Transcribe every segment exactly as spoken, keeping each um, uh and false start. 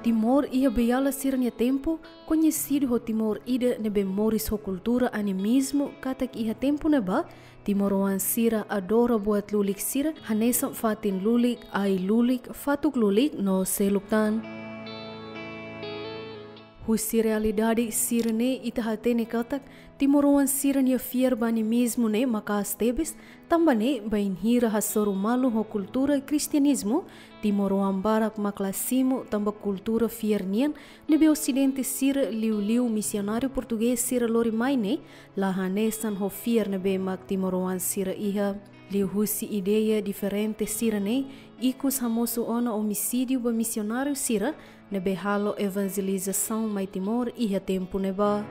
Timor iha beiala sira-nia tempu, koñesidu ho Timor ida ne'ebé moris ho kultura animizmu, katak iha tempu ne'ebá, timoroan sira adora buat lulik sira, hanesan fatin lulik, ai lulik, fatuk lulik, no seluk tan. Husi realidade sira-ne'e ita hatene katak, timoroan sira-nia fiar ba animizmu ne'e maka'as tebes, tanba ne'e bainhira hasoru malu ho kultura kristianizmu, timoroan barak mak la simu tanba kultura fiar nian, ne'ebé Osidente sira liuliu misionáriu portugés sira lori mai ne'e, la hanesan ho fiar ne'ebé mak timoroan sira iha. Liuhusi ideia diferente sira-ne'e, ikus hamosu ona omisídiu ba misionáriu sira, ne'ebé halo evanjelizasaun mai Timor iha tempu ne'ebá.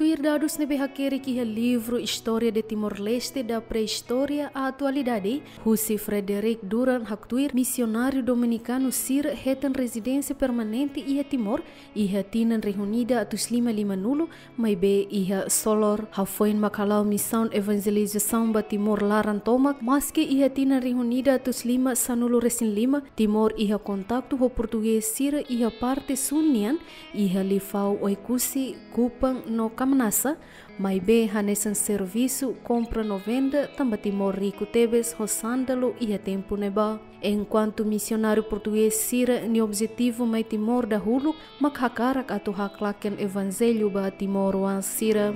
Tuir dadus ne'ebé hakerek iha livru História de Timor-Leste, da Pré-História à Atualidade, husi Frederick Durant haktuir misionáriu dominikanu sira hetan rezidénsia permanente iha Timor, iha tinan rihun ida atus lima lima-nulu, maibé iha Solor. Hafoin mak hala'o misaun evanjelizasaun ba Timor laran tomak, maski iha tinan rihun ida atus lima sanulu-resin-lima, Timor iha kontaktu ho portugés sira iha parte sun nian, iha Lifau, Oekusi, Kupang no Kamanasa, maibé hanesan servisu kompra no venda tanba Timor riku tebes ho sándalu iha tempu ne'ebá. Enkuantu misionáriu portugés sira-nia objetivu mai Timor dahuluk mak hakarak atu haklaken evanjellu ba timoroan sira.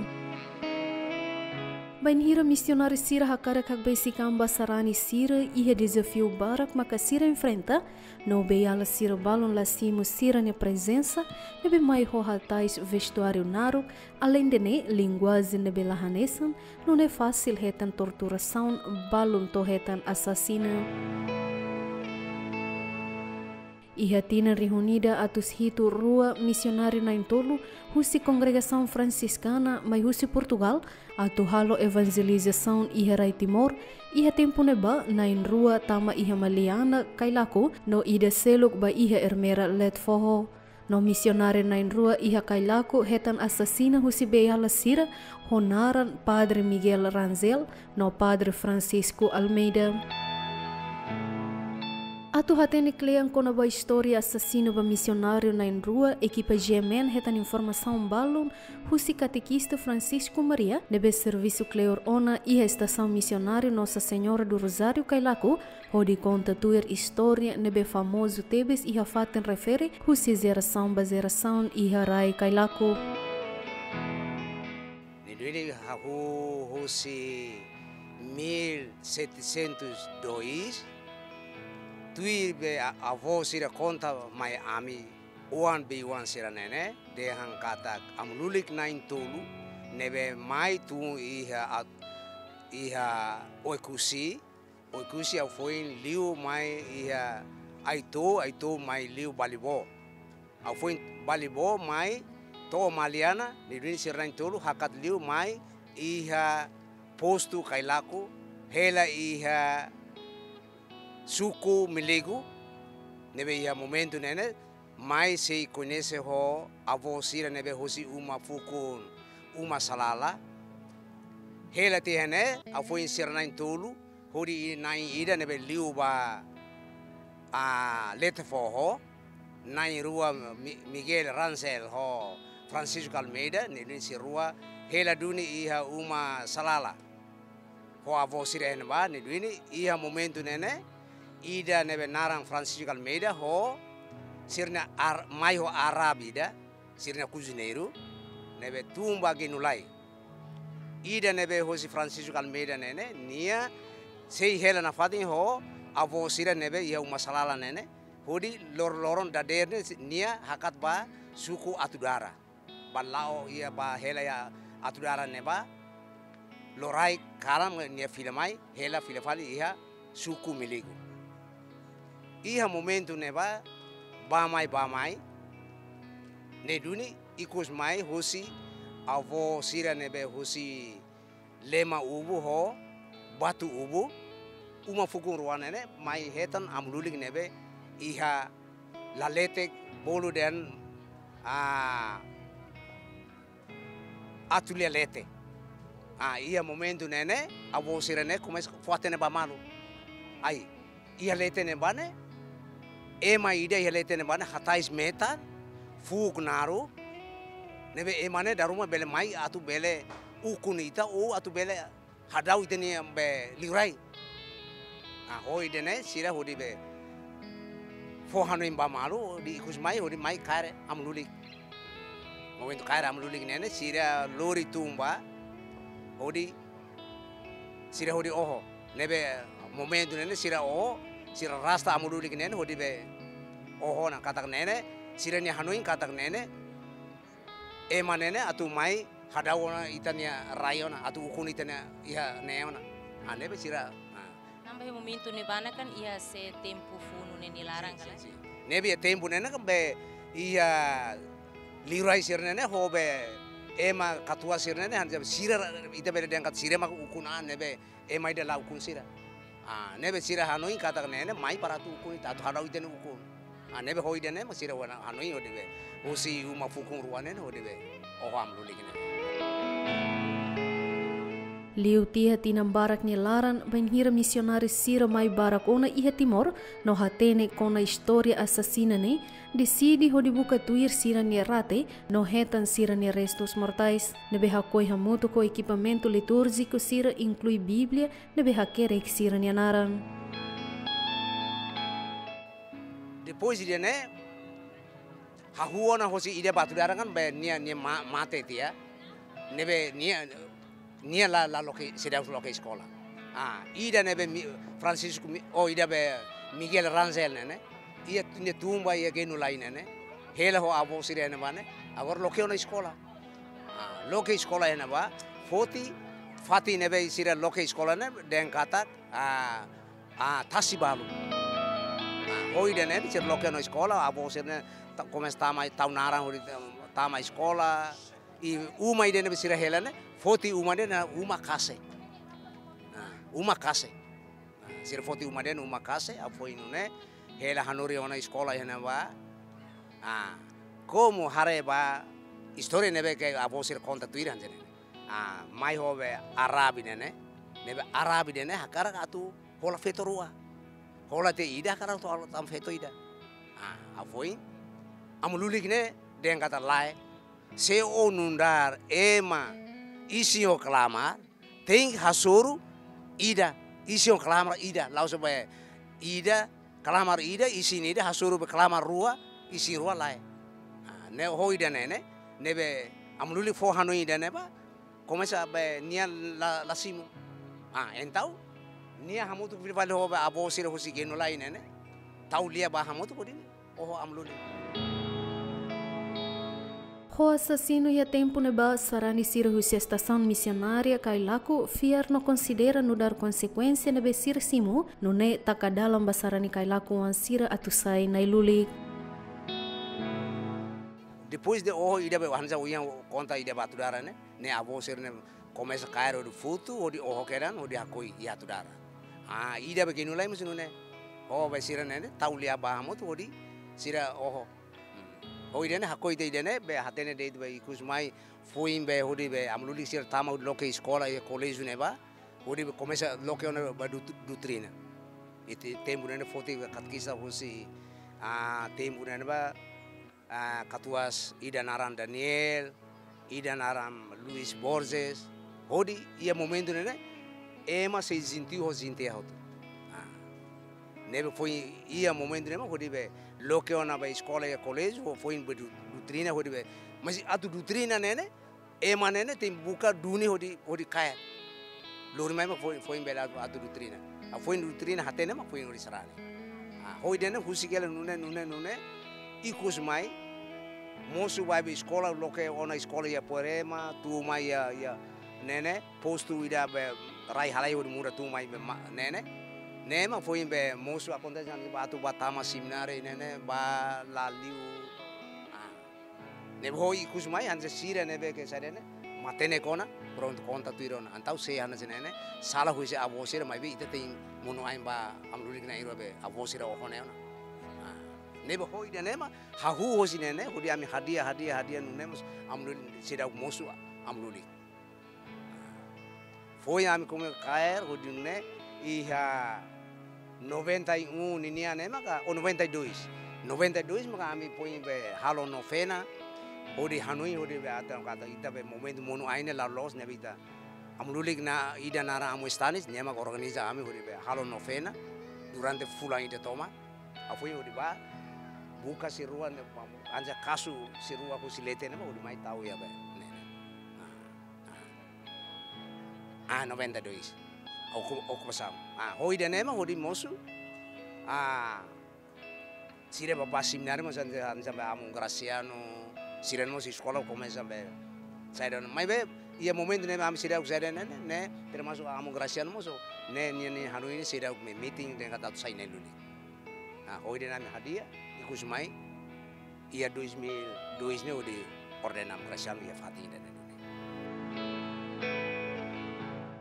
Bainhira misionáriu sira hakarak hakbesik an ba sarani sira, iha dezafiu barak maka sira enfrenta, no beiala sira balun la simu sira-nia prezensa, ne'ebé mai ho hatais vestuáriu naruk, aleinde ne'e linguajen ne'ebé la hanesan, nune'e fasil hetan torturasaun, balun to'o hetan asasina. Iha tinan rihun ida atus hitu-rua, misionáriu na'in-tolu husi kongregasaun fransiskana mai husi Portugal atu halo evanjelizasaun iha rai Timor, iha tempu ne'ebá na'in-rua tama iha Maliana, Cailaco, no ida seluk ba iha Ermera, Letefoho. No misionáriu na'in-rua iha Cailaco hetan asasina husi beiala sira ho naran Padre Miguel Rangel no Padre Francisco Almeida. Atu hatene kle'an kona-ba istória asasinu ba misionáriu na'in-rua, ekipa G M N hetan informasaun balun husi katekista Francisco Maria, ne'ebé servisu kleur ona iha estasaun misionáriu Nossa Senhora do Rosário Cailaco, hodi konta tuir istória ne'ebé famozu tebes iha fatin refere husi jerasaun ba jerasaun iha rai Cailaco. Ne'e duni hahú husi mil setecentos e dois, tuir be a-, avó sira konta mai ami, oan bei-oan sira-ne'e ne'e, dehan katak amu lulik na'in-tolu, ne'ebé mai tun iha at-, iha Oekusi, Oekusi hafoin liu mai iha Aito, Aito mai liu Balibó. Hafoin Balibó mai to'o Maliana, ne'e duni sira na'in-tolu hakat liu mai iha postu Cailaco, hela iha suku Milego, ne'ebé iha momentu ne'e ne'e, mai sei koñese ho avó sira ne'ebé hosi uma fukun Uma Salala. Hela tiha ne'e, hafoin sira na'in-tolu, hodi na'in ida ne'ebé liu ba, ah, Letefoho, na'in-rua Mi-, Miguel Rangel ho Francisco Almeida, ne'e duni sira rua hela duni iha Uma Salala. Ho avó sira iha ne'ebá, ne'e duni iha momentu ne'e ne'e, ida ne'ebé naran Francisco Almeida ho sira-nia ar-, mai ho Arab ida, sira-nia kuzuneiru, ne'ebé tun ba Genulai. Ida ne'ebé hosi Francisco Almeida ne'e ne'e, nia sei hela nafatin ho avó sira ne'ebé iha Uma Salala ne'e ne'e, hodi lor-, loron dadeer ne'e nia hakat ba suku Atudara. Ba la'o iha ba hela iha Atudara ne'ebá, lorokraik kalan nia fila mai, hela fila fali iha suku Milego. Iha momentu ne'ebá, bá mai, bá mai, ne'e duni ikus mai hosi avó sira ne'ebé hosi Lema Ubu ho Batu Ubu, uma fukun rua ne'e ne'e, mai hetan amu lulik ne'ebé iha Lalete, bolu dehan, ah, Atulia Lete. Ah, iha momentu ne'e ne'e, avó sira ne'e komesa fó-hatene ba malu. Ai, iha leten ne'ebá ne'e, Ema ida iha leten ne'ebá ne'e hatais metan, fuuk naruk, ne'ebé ema ne'e dala ruma bele mai atu bele ukun ita ou atu bele hadau ita-nia be liurai. Ah, ho ida-ne'e sira hodi be fó hanoin ba malu, hodi ikus mai, hodi mai kaer amu lulik. Momentu kaer amu lulik ne'e ne'e, sira lori tumba, hodi sira hodi oho. Ne'ebé momentu ne'e ne'e sira oho, sira rasta amu lulik ne'e ne'e, hodi be oho ona katak ne'e ne'e, sira-nia hanoin katak ne'e ne'e, ema ne'e ne'e atu mai hadau ona ita-nia rai ona, atu ukun ita-nia iha ne'e ona. Ah, ne'ebé sira, ah. Tanba iha momentu ne'ebá ne'e kan iha se tempu funu ne'e nia laran kan? Sin, sin, sin. Ne'ebé iha tempu ne'e ne'e kan be iha liurai sira ne'e ne'e ho be ema katuas sira ne'e ne'e hanesan sira ita bele dehan katak sira mak ukun an ne'ebé ema ida la ukun sira. Ah, ne'ebé sira hanoin katak ne'e ne'e mai para atu ukun ita, atu hadau ita-nia ukun. Ah, ne'ebé ho ida-ne'e mak sira hanoin hodi be husi uma fukun rua ne'e ne'e hodi be oho amu lulik ne'e. Liu tiha tinan barak nia laran, bainhira misionáriu sira mai barak ona iha Timor, no hatene kona-ba istória asasina ne'e, deside hodi buka tuir sira-nia rate, no hetan sira-nia restus mortais. Ne'ebé hakoi hamutuk ho ekipamentu litúrjiku sira inklui Bíblia, ne'ebé hakerek sira-nia naran. Depois ida-ne'e, hahú ona hosi ida ba Atudara kan, be nia, nia ma-, mate tiha. Ne'ebé nia, nia la, la loke, seidauk loke eskola. Ah, ida ne'ebé Mi-, Francisco Mi-, oh, ida be Miguel Rangel ne'e ne'e. Iha nia tumba iha Genulai ne'e ne'e. Hela ho avó sira ne'ebá ne'e. Agora loke ona eskola. Ah, loke eskola iha ne'ebá. Foti, fatin ne'ebé sira loke eskola ne'e, dehan katak, ah, ah, tasi balu. Ah, ho ida-ne'e, sira loke ona eskola, avó sira ne'e, ta-, komesa tama, tau naran, hodi, tama eskola, i uma ida ne'ebé sira hela ne'e, foti uma ida ne'e, uma kase. Ah, uma kase. Ah, sira foti uma ida ne'e, uma kase, ah, foin nune'e, hela hanorin ona eskola iha ne'ebá. Ah, komu haree ba, istória ne'ebé ke avó sira konta tuir hanesan ne'e. Ah, mai ho be Arabi ne'e ne'e. Ne'ebé Arabi ne'e ne'e hakarak atu hola feto rua. Hola tiha ida hakarak atu hola tan feto ida. Ah, ah, foin. Amu lulik ne'e dehan katak lae. Se ó nu'udar ema isin ho klamar, tenke hasoru ida, isin ho klamar ida. La'ós be ida, klamar ida, isin ida, hasoru be klamar rua, isin rua lae. Ah, ne'e ho ida-ne'e ne'e, ne'ebé amu lulik fó hanoin ida-ne'ebá, komesa be nia la, la simu. Ah, entaun, nia hamutuk fila fali ho be avó sira husi Genulai ne'e ne'e. Tau lia ba hamutuk hodi oho amu lulik. Ho asasinu iha tempu ne'ebá, sarani sira husi estasaun misionária Kailaku fiar no konsidera nu'udar konsekuénsia ne'ebé sira simu, nune'e taka dalan ba sarani Kailaku oan sira atu sai na'in-lulik. Depois de oho ida be hanesan ohin konta ida ba Atudara ne'e, ne'e avó sira ne'e komesa kaer hodi futu, hodi oho kedan, hodi hakoi iha Atudara. Ah, ida be Genulai mós nune'e. Ho be sira ne'e ne'e, tau lia ba hamutuk hodi sira oho. Hmm. Ho ida-ne'e hakoi tiha ida-ne'e, be hatene de'it be ikus mai, foin be hodi be amu lulik sira tama hodi loke eskola iha koléjiu ne'ebá, hodi be komesa loke ona ba dut-, dutrina. Iha tempu ne'e ne'e foti be katekista husi, ah, tempu ne'ebá, ah, katuas ida naran Daniel, ida naran Luis Borges, hodi iha momentu ne'e ne'e, ema sei jentiu ho jentia hotu. Ah. Ne'ebé foin iha momentu ne'e mak hodi be loke ona ba eskola iha koléjiu, foin be du-, dutrina hodi be. Mas atu dutrina ne'e ne'e, ema ne'e ne'e tenke buka duni hodi, hodi kaer. Lori mai mak foin, foin bele atu, atu dutrina. Ah, foin dutrina hatene mak foin hodi sarani. Ah, ho ida-ne'e husik hela nune'e, nune'e, nune'e. Ikus mai, mosu ba be eskola, loke ona eskola iha Apuarema, tun mai iha, iha, ne'e ne'e, postu ida be rai halai hodi muda tun mai be ma-, ne'e ne'e. Ne'e mak foin be mosu akontese hanesan ba atu ba tama semináriu ne'e ne'e, ba la liu. Ah. Ne'ebé ho ikus mai hanesan sira ne'ebé ke saida ne'e, matenek ona, prontu konta tuir ona. Entaun sei hanesan ne'e ne'e, sala husi avó sira maibé ita tenke monu ain ba amu lulik na'in-rua be avó sira oho ne'e ona. Ah. Ne'ebé ho ida-ne'e mak, hahú hosi ne'e ne'e, hodi ami hadi'a, hadi'a, hadi'a nune'e mós amu lulik seidauk mosu amu lulik. Foin ami komesa kaer, hodi nune'e iha Noventa e um ninian ne'e maka, ou noventa e dois. Noventa e dois maka ami foin be halo novena, hodi hanoin, hodi be atan katak ita be momentu monu-ain ne'e la loos ne'ebé ita. Amu lulik ida naran Amu Stanis, nia maka organiza ami hodi be halo novena durante fulan ida tomak. Ha'u foin hodi ba buka sira rua ne'e, hanesan kasu sira rua husi leten ne'e mak hodi mai tau iha be ne'e. Ah, ah. Ah, noventa e dois. Oku, okupasaun. Ah, ho ida-ne'e mak hodi mosu. Ah, sira bá ba semináriu mós hanesan, hanesan be Amu Graciano, sira mós eskola komesa be. Saida, maibé iha momentu ne'e ami seidauk saida ne'e, ne'e, ne'e, termasuk Amu Graciano mós, ne'e, ne'e, ne'e, hanoin ne'e seidauk meeting dehan katak atu sai na'in-lulik. Ah, ho ida-ne'e ami hadi'a, ikus mai, iha dois mil e dois ne'e hodi ordena Amu Graciano iha fatin ida-ne'e.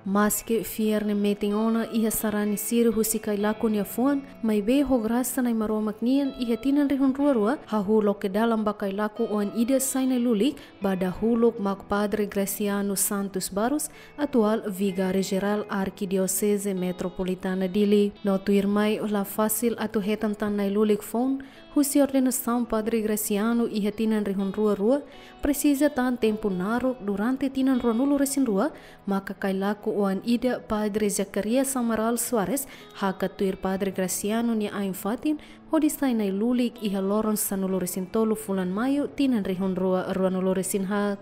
Maske fiar ne'e metin ona iha sarani sira husi Cailaco nia fuan, maibé ho grasa Nai Maromak nian iha tinan rihun rua rua, hahú loke dalan ba Cailaco oan ida sai na'in-lulik, ba dahuluk mak Padre Graciano Santos Barros, atuál Vigáriu Jerál Arkidioseze Metropolitana Dili. No tuirmai la fasil atu hetan tan na'in-lulik foun, husi ordenasaun Padre Graciano iha tinan rihun rua rua, presiza tan tempu naruk durante tinan ruanulu-resin-rua, maka Cailaco oan ida Padre Zacarias Amaral Soares, hakat tuir Padre Graciano nia ain-fatin, hodi sai na'in-lulik iha loron sanulu-resin-tolu fulan Maiu tinan rihun rua ruanulu-resin-haat.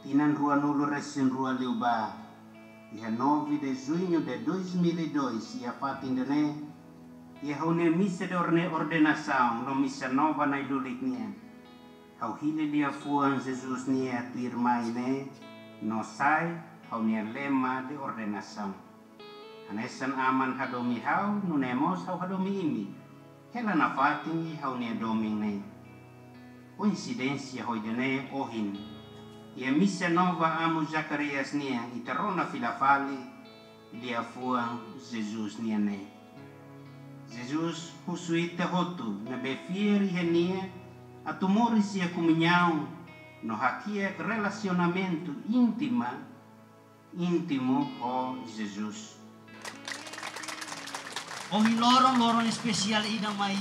Tinan ruanulu-resin-rua liubá, iha nove de junho de dois mil e dois, iha fatin ida-ne'e, iha ha'u-nia misa de orne-, ordenasaun no misa nova na'in-lulik nian, ha'u hili liafuan Jesus nia tuirmai ne'e, no sai ha'u-nia lema de ordenasaun. Hanesan Aman hadomi ha'u, nune'e mós ha'u hadomi imi. Hela nafatin iha ha'u-nia domin ne'e. Koinsidénsia ho ida-ne'e ohin, iha misa nova Amu Zacarias nian ita rona fila fali liafuan Jesus nian ne'e. Jesus husu ita hotu ne'ebé fiar iha nia atu moris iha komuñaun no hakiak relasionamentu íntima, íntimu ho Jesus. Ohin loron, loron espesiál ida mai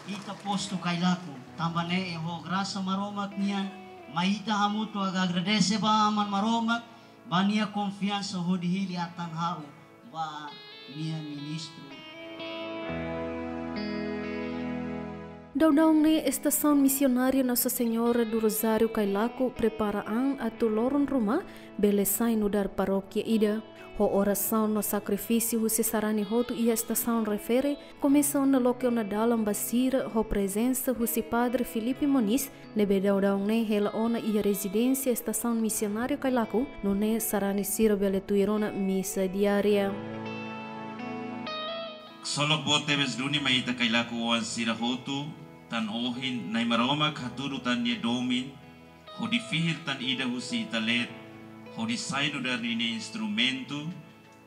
ita postu Cailaco. Tanba ne'e ho grasa Maromak nian mai ita hamutuk agradese ba Aman Maromak, ba nia konfiansa hodi hili atan ha'u ba nia ministru. Daudaun ne'e Estasaun Misionária Nossa Senhora do Rosário Cailaco prepara an atu loron ruma bele sai nu'udar parókia ida. Ho orasaun no sakrifísiu husi sarani hotu iha estasaun refere, komesa ona loke ona dalan ba sira ho prezensa husi Padre Filipe Moniz, ne'ebé daudaun ne'e hela ona iha rezidénsia Estasaun Misionária Cailaco, nune'e sarani sira bele tuir ona misa diária. Ksolok boot tebes duni mai ita Cailaco oan sira hotu, tan ohin Nai Maromak hatudu tan nia domin, hodi fihir tan ida husi ita leet, hodi sai nu'udar ninia instrumentu,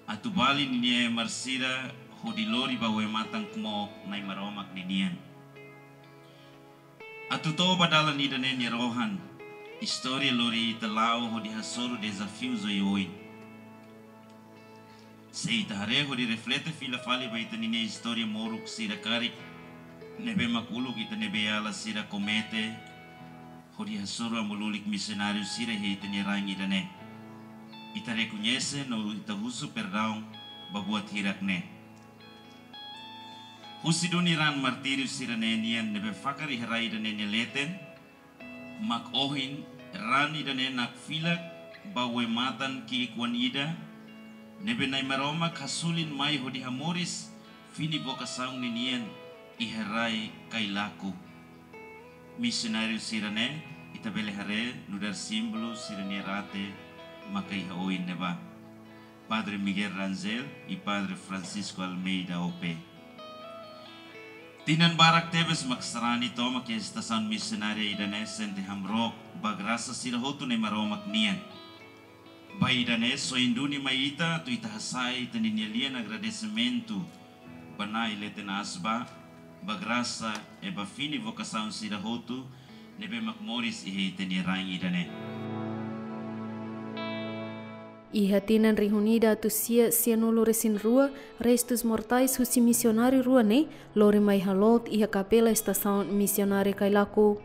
atu bali ninia emar sira hodi lori ba Wematan Kmook Nai Maromak ninian. Atu to'o ba dalan ida-ne'e nia rohan, istória lori ita la'o hodi hasoru dezafiu oioin. Se ita haree hodi reflete fila fali ba ita ninia istória moruk sira karik, ne'ebé mak uluk ita ne'ebé alas sira komete, hodi hasoru amu lulik misionáriu sira iha ita-nia rain ida-ne'e. Ita rekoñese no ita husu perdaun ba buat hirak ne'e. Husi duni raan martíriu sira-ne'e nian ne'ebé fakar iha rai ida-ne'e nia leten, mak ohin raan ida-ne'e nakfilak ba Wematan ki'ik-oan ida, ne'ebé Nai Maromak hasulin mai hodi hamoris fini vokasaun ninian iha rai Cailaco. Misionáriu sira-ne'e, ita bele haree nu'udar símbolu sira-nia rate maka iha oin ne'ebá. Padre Miguel Rangel i Padre Francisco Almeida O P. Tinan barak tebes mak sarani tomak iha estasaun misionária ida-ne'e sente hamrook ba grasa sira hotu Nai Maromak nian. Ba ida-ne'e soin duni mai ita atu ita hasa'e ita-nia lian agradesimentu ba Nai Leten Aas ba, ba grasa i ba fini vokasaun sira hotu ne'ebé mak moris iha ita-nia rain ida-ne'e. Iha tinan rihun ida atus sia sianulu resin rua, restus mortais husi misionáriu rua ne'e lori mai haloot iha kapela estasaun misionáriu Cailaco.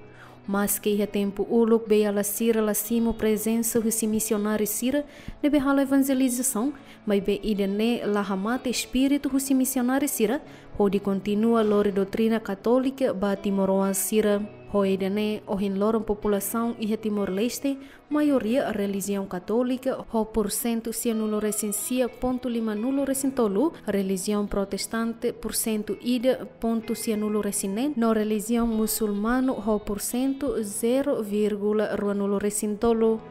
Maske iha tempu uluk beiala sira la simu prezensa husi misionáriu sira ne'ebé halo evanjelizasaun, maibé ida-ne'e la hamate espíritu husi misionáriu sira hodi kontinua lori doutrina katólika ba timoroan sira. Ho ida-ne'e, ohin loron populasaun iha Timor-Leste maioria relijiaun katólika ho pursentu sianulu resin sia pontu limanulu resin tolu, relijiaun protestante pursentu ida pontu sianulu resin neen, no relijiaun musulmanu ho pursentu zero vírgula ruanulu resin tolu.